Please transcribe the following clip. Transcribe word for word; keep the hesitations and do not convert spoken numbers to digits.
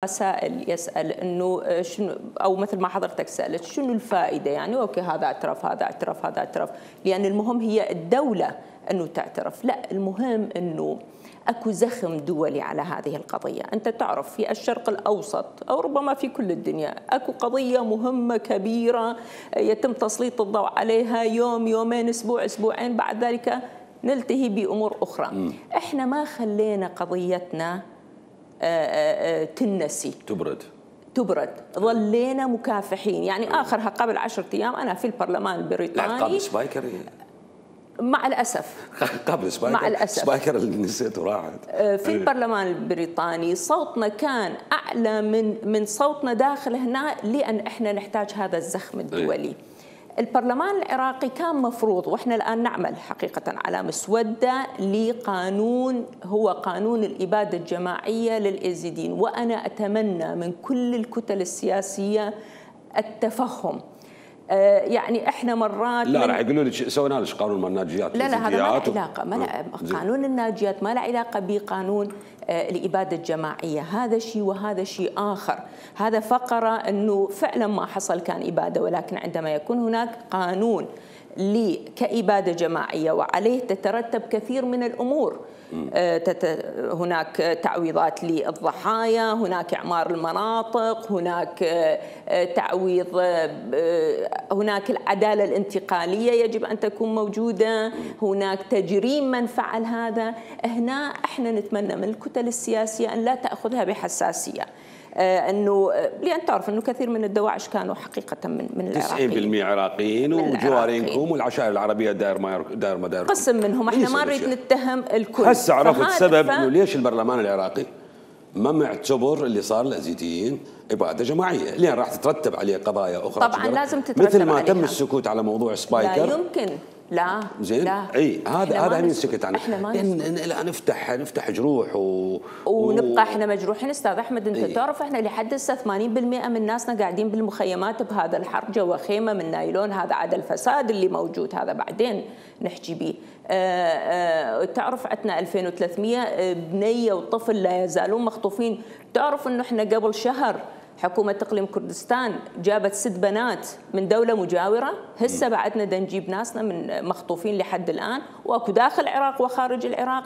سائل يسأل انه شنو، او مثل ما حضرتك سألت شنو الفائدة، يعني اوكي هذا اعترف هذا اعترف هذا اعترف، لأن المهم هي الدولة انه تعترف، لا المهم انه اكو زخم دولي على هذه القضية. انت تعرف في الشرق الاوسط او ربما في كل الدنيا اكو قضية مهمة كبيرة يتم تسليط الضوء عليها يوم يومين اسبوع اسبوعين، بعد ذلك نلتهي بامور اخرى. م. احنا ما خلينا قضيتنا تنسي تبرد تبرد ظلينا مكافحين. يعني اخرها قبل عشرة ايام انا في البرلمان البريطاني قبل سبايكر مع الاسف قبل سبايكر مع الاسف سبايكر اللي نسيته راحت في البرلمان البريطاني صوتنا كان اعلى من من صوتنا داخل هنا، لان احنا نحتاج هذا الزخم الدولي. البرلمان العراقي كان مفروض، واحنا الان نعمل حقيقه على مسوده لقانون هو قانون الاباده الجماعيه للازيديين، وانا اتمنى من كل الكتل السياسيه التفهم. آه يعني احنا مرات لا راح يقولوا لك سوينا لك قانون مال الناجيات. لا لا هذا ما له علاقه، ما له قانون الناجيات ما له علاقه بقانون آه الاباده الجماعيه، هذا شيء وهذا شيء اخر. هذا فقره انه فعلا ما حصل كان اباده، ولكن عندما يكون هناك قانون لي كإبادة جماعية وعليه تترتب كثير من الأمور، هناك تعويضات للضحايا، هناك إعمار المناطق، هناك تعويض، هناك العدالة الانتقالية يجب أن تكون موجودة، هناك تجريم من فعل هذا. هنا احنا نتمنى من الكتل السياسية أن لا تأخذها بحساسية، انه لان تعرف انه كثير من الدواعش كانوا حقيقه من من العراقيين تسعين بالمئة عراقيين وجوارينكم والعشائر العربيه داير ما داير ما داير قسم منهم. احنا ما نريد نتهم الكل. هسه عرفت سبب انه ليش البرلمان العراقي ما معتبر اللي صار الازيديين اباده جماعيه، لان راح تترتب عليه قضايا اخرى. طبعا لازم تترتب مثل ما عليها. تم السكوت على موضوع سبايكر لا يمكن لا زين لا. اي هذا هذا اللي نسكت عنه. احنا ما لا نفتح نفتح جروح و... ونبقى احنا مجروحين. استاذ احمد انت إيه؟ تعرف احنا لحد هسه ثمانين بالمئة من ناسنا قاعدين بالمخيمات بهذا الحر جوا خيمه من نايلون. هذا عدا الفساد اللي موجود، هذا بعدين نحكي به. تعرف عندنا ألفين وثلاثمئة بنيه وطفل لا يزالون مخطوفين. تعرف انه احنا قبل شهر حكومة إقليم كردستان جابت ست بنات من دولة مجاورة، هسه بعدنا دا نجيب ناسنا من مخطوفين لحد الآن، واكو داخل العراق وخارج العراق.